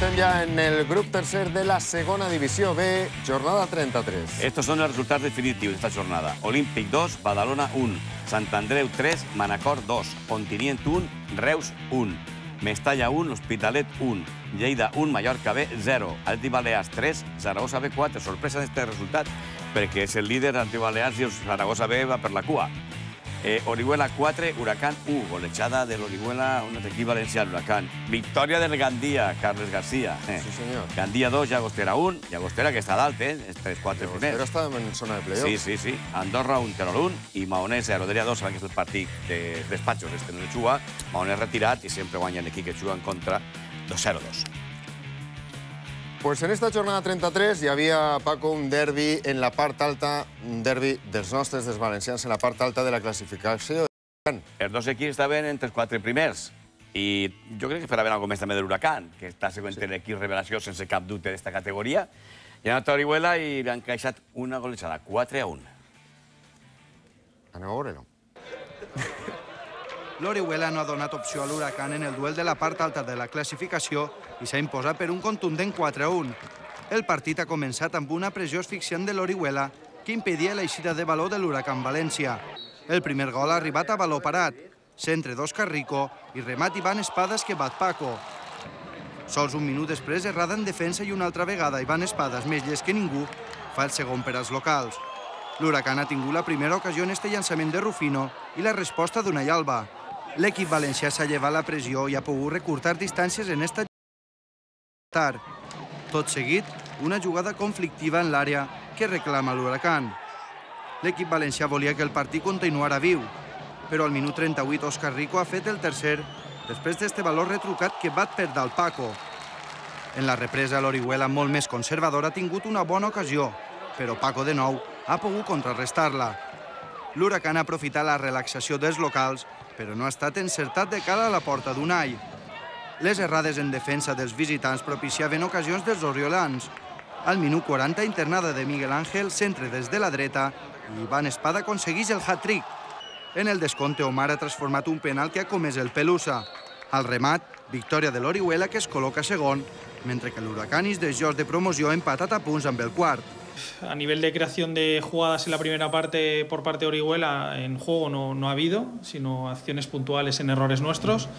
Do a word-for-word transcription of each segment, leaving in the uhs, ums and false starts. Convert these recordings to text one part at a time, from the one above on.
estem ja en el grup tercer de la segona divisió B, jornada trenta-tres. Estos son los resultados definitivos de esta jornada. Olímpic dos, Badalona un, Sant Andreu tres, Manacor dos, Ontinyent un, Reus un, Mestalla un, L'Hospitalet un, Lleida un, Mallorca B zero, Atlètic Balears tres, Zaragoza B quatre. Sorpresa d'aquest resultat, perquè és el líder Atlètic Balears i el Zaragoza B va per la cua. Eh, Orihuela quatre, Huracán u, golejada de l'Orihuela, un equip valencià, Huracán. Victòria del Gandia, Carles García. Eh. Sí, senyor. Gandia dos, Llagostera un, Llagostera que està dalt, eh? Els tres quatre primers. Llagostera està en zona de playoff. Sí, sí, sí. Andorra un, Terol un i Maonès zero. Deria dos, saben que és el partit de despatxos, este no el juga. Maonès retirat i sempre guanya l'equip que juga en contra dos zero dos. Pues en esta jornada trenta-tres hi havia, Paco, un derbi en la part alta, un derbi dels nostres, dels valencians, en la part alta de la classificació. Els dos equips estaven entre els quatre primers i jo crec que farà ben alguna més també de l'Huracán, que està següent l'equip revelació sense cap dubte d'esta categoria. I ha anat a Orihuela i li han encaixat una golejada, quatre a un. Aneu a veure-ho. L'Orihuela no ha donat opció a l'Huracán en el duel de la part alta de la classificació i s'ha imposat per un contundent quatre a un. El partit ha començat amb una pressió asfixiant de l'Orihuela que impedia l'eixida de baló de l'Huracán València. El primer gol ha arribat a baló parat, centre d'Òscar Rico i remat Ivan Espadas que bat Paco. Sols un minut després, errada en defensa i una altra vegada Ivan Espadas, més llest que ningú, fa el segon per als locals. L'Huracán ha tingut la primera ocasió en este llançament de Rufino i la resposta d'Unai Alba. L'equip valencià s'ha llevat la pressió i ha pogut recurtar distàncies en esta tard. Tot seguit, una jugada conflictiva en l'àrea que reclama l'Huracán. L'equip valencià volia que el partit continuara viu, però al minut trenta-vuit Òscar Rico ha fet el tercer després d'este valor retrucat que bat per dalt Paco. En la represa, l'Orihuela, molt més conservador, ha tingut una bona ocasió, però Paco, de nou, ha pogut contrarrestar-la. L'Huracán ha aprofitat la relaxació dels locals, però no ha estat encertat de cara a la porta d'Unai. Les errades en defensa dels visitants propiciaven ocasions dels oriolans. Al minut quaranta, internada de Miguel Ángel, centre des de la dreta, i Ivan Espada aconsegueix el hat-trick. En el descompte, Omar ha transformat un penal que ha comès el Pelusa. Al remat, victòria de l'Orihuela, que es col·loca segon, mentre que l'Huracán és dels jocs de promoció empatat a punts amb el quart. A nivel de creación de jugadas en la primera parte por parte de Orihuela, en juego no, no ha habido, sino acciones puntuales en errores nuestros.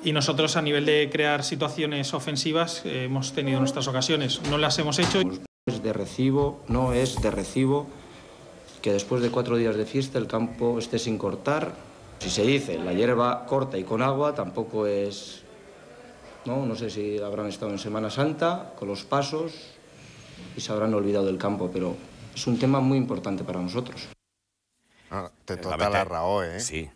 Y nosotros, a nivel de crear situaciones ofensivas, eh, hemos tenido nuestras ocasiones. No las hemos hecho. Es de recibo, no es de recibo que después de cuatro días de fiesta el campo esté sin cortar. Si se dice la hierba corta y con agua, tampoco es... No, no sé si habrán estado en Semana Santa con los pasos y se habrán olvidado del campo, pero es un tema muy importante para nosotros. Ah, té tota la raó, eh? Sí.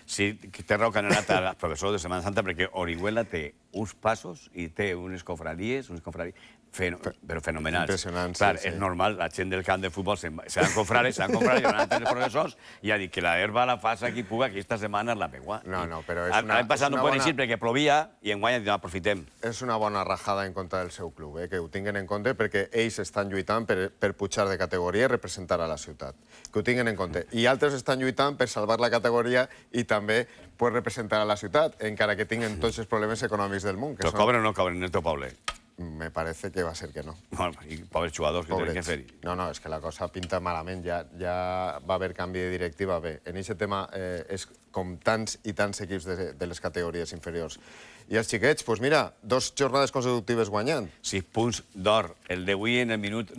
Sí, té raó que han anat al professor de Setmana Santa perquè Orihuela té uns passos i té unes confraries, unes confraries però fenomenals. Impressionants, Clar, sí, sí. és normal, la gent del camp de futbol seran confrares, seran confrares, i van a tenir professors i ha dit que la herba la fas aquí puga, que esta setmana és la megua. No, no, però és una... L'any passat no poden eixir perquè plovia i enguany no aprofitem. És una bona rajada en contra del seu club, que ho tinguin en compte perquè ells estan lluitant per pujar de categoria i representar a la ciutat. Que ho tinguin en compte. I altres estan lluitant per salvar la categoria i també per representar a la ciutat, encara que tinguin tots els problemes econòmics del món. Però cobren o no cobren en el teu poble? Me parece que va a ser que no. I pobres jugadors que tenen que fer-hi. No, no, és que la cosa pinta malament. Ja va haver canvi de directiva. Bé, en aquest tema és com tants i tants equips de les categories inferiors. I els xiquets, doncs mira, dos jornades consecutives guanyant. Sis punts d'or. El d'avui en el minut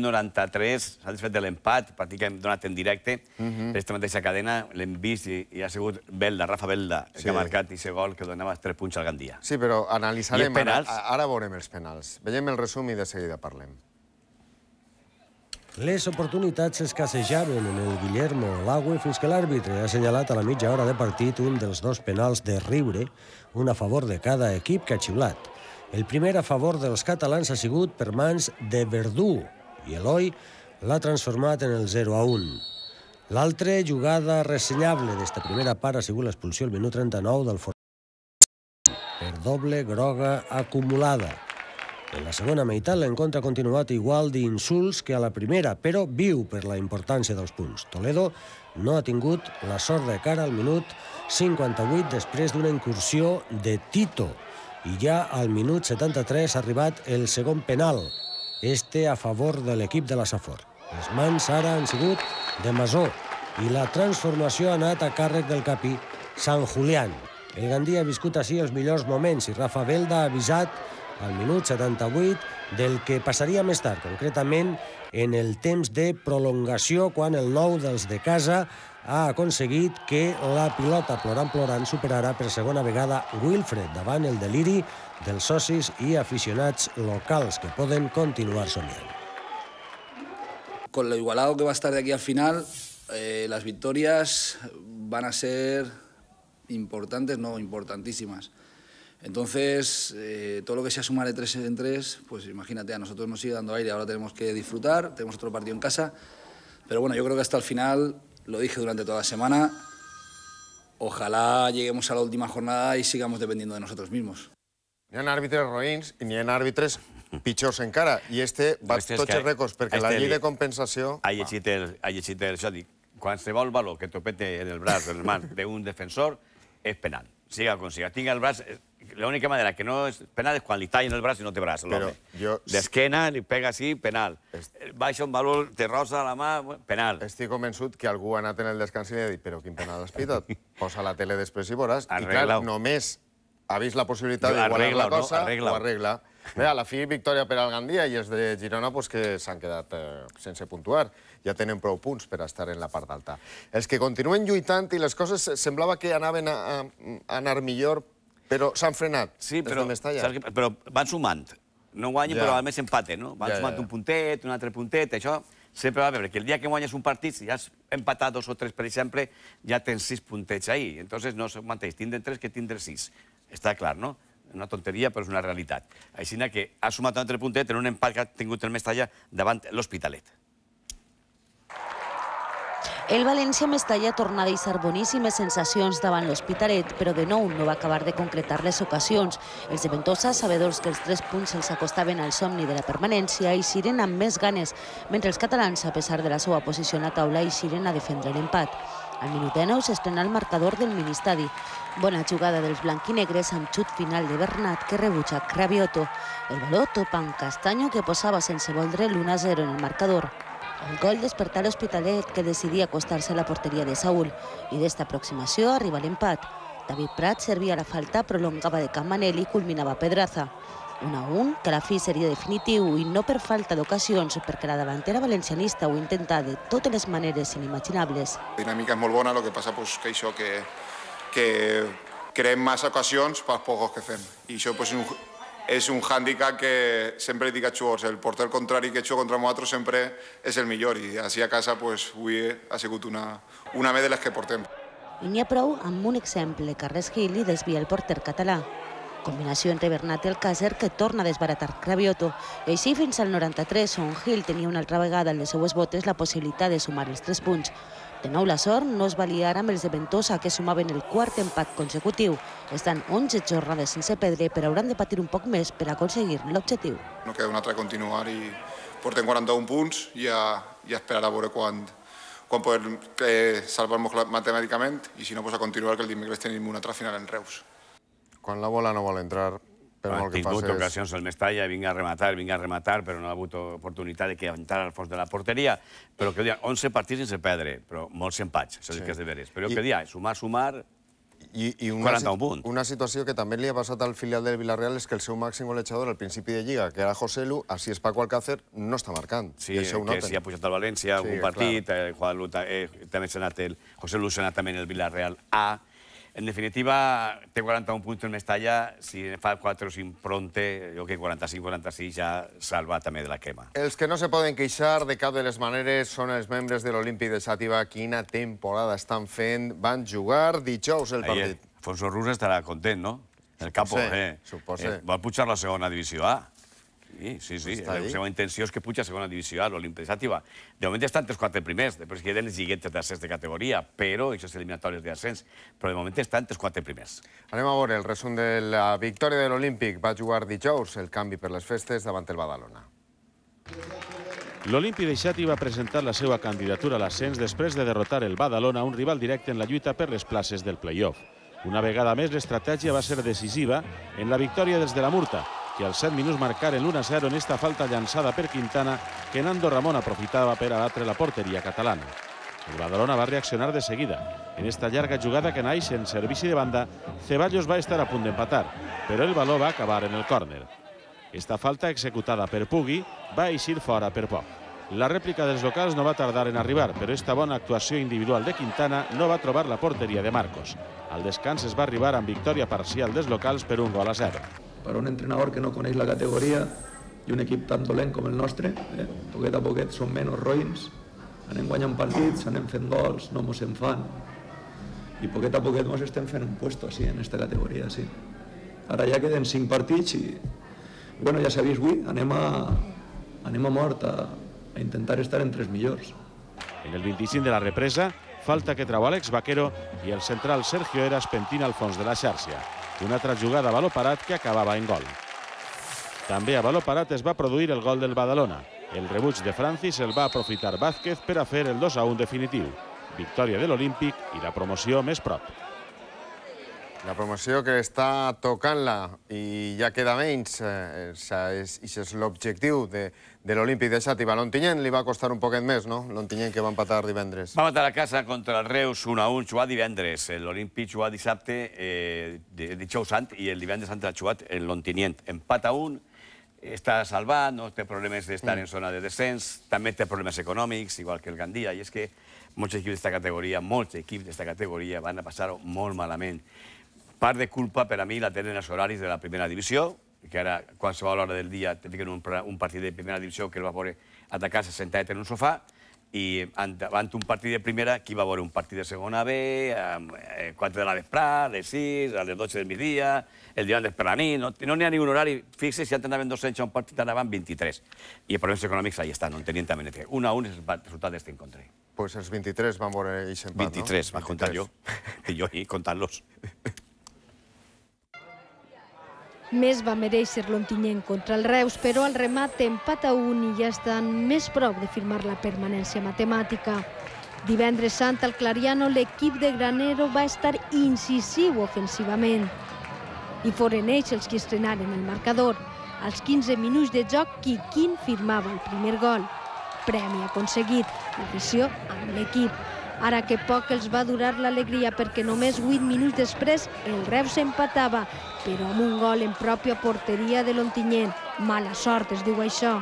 noranta-tres s'ha desfet de l'empat, partit que hem donat en directe. Aquesta mateixa cadena l'hem vist i ha sigut Belda, Rafa Belda, que ha marcat aquest gol que donava tres punts al Gandia. Sí, però analitzarem. Ara veurem els penals. Veiem el resum i de seguida parlem. Les oportunitats escassejaven en el Guillermo Lagüe fins que l'àrbitre ha assenyalat a la mitja hora de partit un dels dos penals de riure, un a favor de cada equip que ha xiulat. El primer a favor dels catalans ha sigut per mans de Verdú i Eloi l'ha transformat en el zero a un. L'altra jugada ressenyable d'esta primera part ha sigut l'expulsió al minut trenta-nou del Formentera per doble groga acumulada. En la segona meitat l'encontre ha continuat igual d'insults que a la primera, però viu per la importància dels punts. Toledo no ha tingut la sort de cara al minut cinquanta-vuit després d'una incursió de Tito i ja al minut setanta-tres ha arribat el segon penal, este a favor de l'equip de la Safor. Les mans ara han sigut de Masó i la transformació ha anat a càrrec del capí Sant Julián. El Gandia ha viscut així els millors moments i Rafa Belda ha avisat al minut setanta-vuit del que passaria més tard, concretament en el temps de prolongació, quan el nou dels de casa ha aconseguit que la pilota plorant-plorant superarà per segona vegada Wilfred davant el deliri dels socis i aficionats locals que poden continuar somiant. Con lo igualado que va a estar de aquí al final, eh, las victorias van a ser importantes, no importantísimas. Entonces, eh, todo lo que sea sumar de tres en tres, pues imagínate, a nosotros nos sigue dando aire, ahora tenemos que disfrutar, tenemos otro partido en casa, pero bueno, yo creo que hasta el final, lo dije durante toda la semana, ojalá lleguemos a la última jornada y sigamos dependiendo de nosotros mismos. N'hi ha àrbitres roïns i n'hi ha àrbitres pitjors encara, i este va tots els rècords, perquè la llei de compensació... Ha llegit el, ha llegit el, això dic, qualsevol valor que topete en el braç, en el mar d'un defensor, és penal. Siga com siga. Tinga el braç... L'única manera que no és penal és quan li tallen el braç i no té braç, l'home. D'esquena, li pega així, penal. Baixa un valor, te rosa la mà, penal. Estic convençut que algú ha anat en el descans i li ha dit però quin penal has pitat? Posa la tele després i veuràs. I clar, només ha vist la possibilitat d'igualar la cosa, ho arregla. Bé, a la fi, victòria per al Gandia i els de Girona que s'han quedat sense puntuar. Ja tenen prou punts per estar en la part alta. Els que continuen lluitant i les coses semblava que anaven a anar millor, però s'han frenat. Sí, però van sumant. No guanyen, però almenys empaten, no? Van sumant un puntet, un altre puntet, això sempre va bé, perquè el dia que guanyes un partit, si has empatat dos o tres, per exemple, ja tens sis puntets ahí. Entonces no és el mateix tindre tres que tindre sis. Està clar, no? Una tonteria, però és una realitat. Així que ha sumat un altre puntet en un empat que ha tingut el Mestalla davant l'Hospitalet. El València-Mestalla torna a deixar boníssimes sensacions davant l'Hospitalet, però de nou no va acabar de concretar les ocasions. Els de Ventosa, sabedors que els tres punts els acostaven al somni de la permanència, eixiren amb més ganes, mentre els catalans, a pesar de la seva posició a la taula, eixiren a defendre l'empat. Al minut nou s'estrena el marcador del ministadi. Bona jugada dels blanquinegres amb xut final de Bernat que rebutja Cravioto. El baló topa amb Castanyo que posava sense voldre l'u a zero en el marcador. El gol despertà l'Hospitalet que decidia acostar-se a la porteria de Saúl i d'esta aproximació arriba l'empat. David Prat servia la falta, prolongava de Camanel i culminava Pedraza. un a un, que a la fi seria definitiu i no per falta d'ocasions, perquè la davantera valencianista ho intenta de totes les maneres inimaginables. La dinàmica és molt bona, el que passa és que això que, que creem massa ocasions pels pocs que fem. I això és un, és un hàndicap que sempre dic als jugadors, el porter contrari que juga contra nosaltres sempre és el millor i així a casa pues, avui ha sigut una, una més de les que portem. I n'hi ha prou amb un exemple, Carles Gil i desvia el porter català. Combinació entre Bernat i Alcácer que torna a desbaratar Cravioto. I així fins al noranta-tres, on Gil tenia una altra vegada en les seues botes la possibilitat de sumar els tres punts. De nou la sort no es va liar amb els de Ventosa, que sumaven el quart empat consecutiu. Estan onze jornades sense perdre, però hauran de patir un poc més per aconseguir l'objectiu. No queda un altre continuar i portem quaranta-un punts i a, i a esperar a veure quan, quan podem eh, salvar-nos matemàticament i si no, pues a continuar, que el dimecres tenim una altra final en Reus. Quan la bola no vol entrar, per molt que facis... Ha tingut ocasions el Mestalla, vinga a rematar, vinga a rematar, però no ha hagut oportunitat de que entrar al fons de la porteria. Però que dia, onze partits sense perdre, però molts empats, això sí que és de veres. Però que dia, sumar, sumar, quaranta-un punts. Una situació que també li ha passat al filial del Villarreal és que el seu màxim golejador al principi de Lliga, que era José Lu, així és Paco Alcácer, no està marcant. Sí, que si ha pujat al València, algun partit, també s'ha anat el José Lu, s'ha anat també el Villarreal A. En definitiva, té quaranta-un punts el Mestalla, si fa quatre o cinc pronte, jo que quaranta-cinc quaranta-sis ja salva també de la crema. Els que no se poden queixar de cap de les maneres són els membres de l'Olímpic de Xàtiva. Quina temporada estan fent. Van jugar dijous el partit. Alfonso Rus estarà content, no? El capo, eh? Suposa. Vol pujar la segona divisió A. Sí, sí, sí. La seva intenció és que puja a segona divisió A, l'Olímpic de Xàtiva. De moment estan els quatre primers, després queden les lliguetes d'ascens de categoria, però, això és eliminatòries d'ascens, però de moment estan els quatre primers. Anem a veure el resum de la victòria de l'Olímpic. Va jugar dijous el canvi per les festes davant el Badalona. L'Olímpic de Xàtiva va presentar la seva candidatura a l'ascens després de derrotar el Badalona, un rival directe en la lluita per les places del play-off. Una vegada més, l'estratègia va ser decisiva en la victòria dels de la Murta, que als set minuts marcaren l'u a zero en esta falta llançada per Quintana que Nando Ramon aprofitava per abatre la porteria catalana. El Badalona va reaccionar de seguida. En esta llarga jugada que naix en servici de banda, Ceballos va estar a punt d'empatar, però el baló va acabar en el córner. Esta falta, executada per Pugui, va eixir fora per poc. La rèplica dels locals no va tardar en arribar, però esta bona actuació individual de Quintana no va trobar la porteria de Marcos. Al descans es va arribar amb victòria parcial dels locals per un gol a zero. Per un entrenador que no coneix la categoria i un equip tan dolent com el nostre, eh, poquet a poquet som menys roïns, anem guanyant partits, anem fent gols, no mos en fan, i poquet a poquet mos estem fent un puesto així, en aquesta categoria, sí. Ara ja queden cinc partits i, bueno, ja s'ha vist avui, anem a, anem a mort a, a intentar estar entre els millors. En el vint-i-cinc de la represa, falta que trau Àlex Vaquero i el central Sergio Eras pentina al fons de la xarxa. Una altra jugada a baló parat que acabava en gol. També a baló parat es va produir el gol del Badalona. El rebuig de Francis el va aprofitar Vázquez per a fer el dos a un definitiu. Victòria de l'Olímpic i la promoció més prop. La promoció que està tocant-la i ja queda menys, eh, i és l'objectiu de, de l'Olímpic de Xàtiva. L'Ontinyent li va costar un poquet més, no? L'Ontinyent que va empatar divendres. Va empatar a casa contra el Reus un a un, jugat divendres. L'Olímpic jugat dissabte, eh, dijous sant, i el divendres sant ha jugat l'Ontinyent. Empat a un, està salvat, no té problemes d'estar en zona de descens, també té problemes econòmics, igual que el Gandia, i és que molts equips d'esta categoria, molts equips d'esta categoria van a passar-ho molt malament. Part de culpa, per a mi, la tenen els horaris de la primera divisió, que ara, qualsevol hora del dia, te fiquen un, un partit de primera divisió que el va veure atacar-se sentat en un sofà, i davant un partit de primera, qui va veure un partit de segona B, a quatre de la vesprada, a les sis, a les dotze del migdia, el divendres per la nit, no n'hi ha ningun horari. Fixa't, si antes anaven dos-cents a un partit, anaven vint-i-tres. I els problemes econòmics ahí estan, no en tenien també. Un a un és el resultat d'este encontre. Pues els vint-i-tres van veure aquest empat, no? vint-i-tres, van comptar jo. I jo, i comptant-los. Més va mereixer l'Ontinyent contra el Reus, però al remat empat a un i ja estan més prop de firmar la permanència matemàtica. Divendres sant al Clariano l'equip de Granero va estar incisiu ofensivament. I foren ells els que estrenaren el marcador. Als quinze minuts de joc, Quiquín firmava el primer gol. Premi aconseguit, l'afició amb l'equip. Ara que poc els va durar l'alegria perquè només vuit minuts després el Reus empatava, però amb un gol en pròpia porteria de l'Ontinyent. Mala sort es diu això.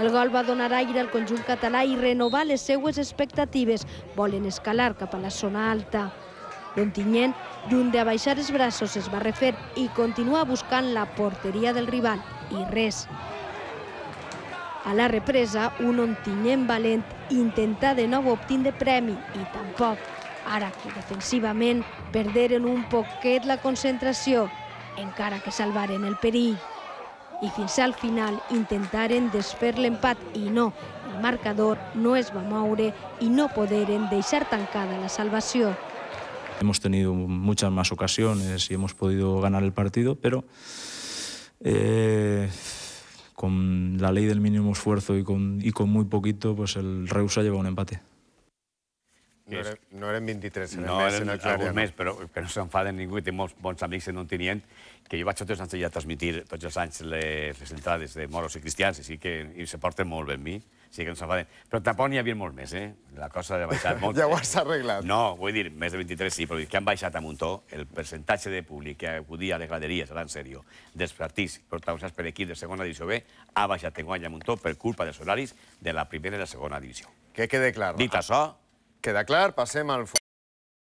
El gol va donar aire al conjunt català i renovar les seues expectatives. Volen escalar cap a la zona alta. L'Ontinyent, lluny d'abaixar els braços, es va refer i continua buscant la porteria del rival. I res. A la represa, un Ontinyent valent intentà de nou obtindre premi i tampoc. Ara que defensivament perderen un poquet la concentració, encara que salvaren el perill. I fins al final intentaren desfer l'empat i no, el marcador no es va moure i no poderen deixar tancada la salvació. Hemos tenido muchas más ocasiones y hemos podido ganar el partido, pero eh, con la ley del mínimo esfuerzo y con, y con muy poquito, pues el Reus ha llevado un empate. No, era, no eren vint-i-tres, eren no, més eren en el Clariano. Alguns més, però que no s'enfaden ningú, i té molts bons amics en Ontinyent, que jo vaig tots els anys allà a transmitir tots els anys les, les entrades de moros i cristians, i sí que i se porten molt bé amb mi, sí que no s'enfaden. Però tampoc n'hi havia molt més, eh? La cosa ha baixat molt. Ja ho has arreglat. No, vull dir, més de vint-i-tres sí, però que han baixat a muntó el percentatge de públic que acudia a les graderies, ara en sèrio, dels partits protagonitzats per equips de segona divisió B, ha baixat enguany a muntó per culpa dels horaris de la primera i la segona divisió. Que quede clar. Dit això, queda clar, passem al